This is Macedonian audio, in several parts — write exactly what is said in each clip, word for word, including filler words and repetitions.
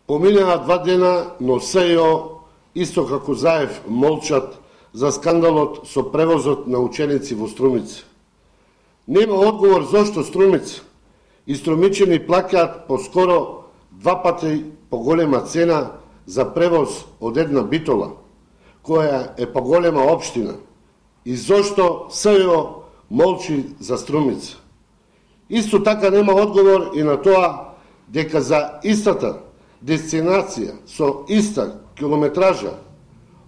Поминаа два дена, но СЈО, исто како Заев, молчат за скандалот со превозот на ученици во Струмица. Нема одговор зошто Струмица и струмичани плаќаат по скоро два пати поголема цена за превоз од една Битола, која е поголема општина, и зошто СЈО молчи за Струмица. Исто така нема одговор и на тоа дека за истата дестинација со иста километража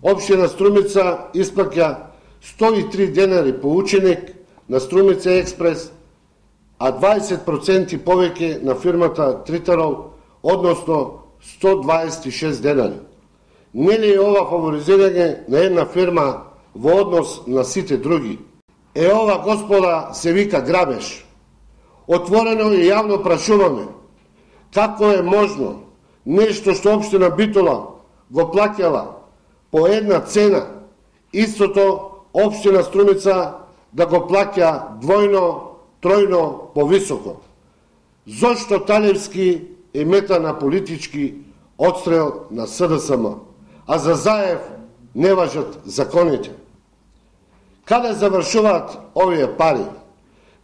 општина Струмица исплаќа сто и три денари по ученик на Струмица експрес, а дваесет проценти повеќе на фирмата Тритарол, односно сто дваесет и шест денари. Нели е ова фаворизирање на една фирма во однос на сите други? Е ова, господа, се вика грабеж. Отворено и јавно прашуваме како е можно нешто што општина Битола го плаќала по една цена, истото општина Струмица да го плаќа двојно, тројно повисоко. Зошто Талевски е мета на политички отстрел на СДСМ, а за Заев не важат законите? Каде завршуваат овие пари?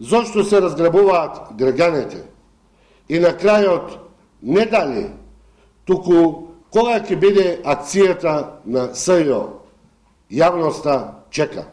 Зошто се разграбуваат граѓаните? И на крајот, не дали, туку кога ќе биде акцијата на СЈО? Јавноста чека.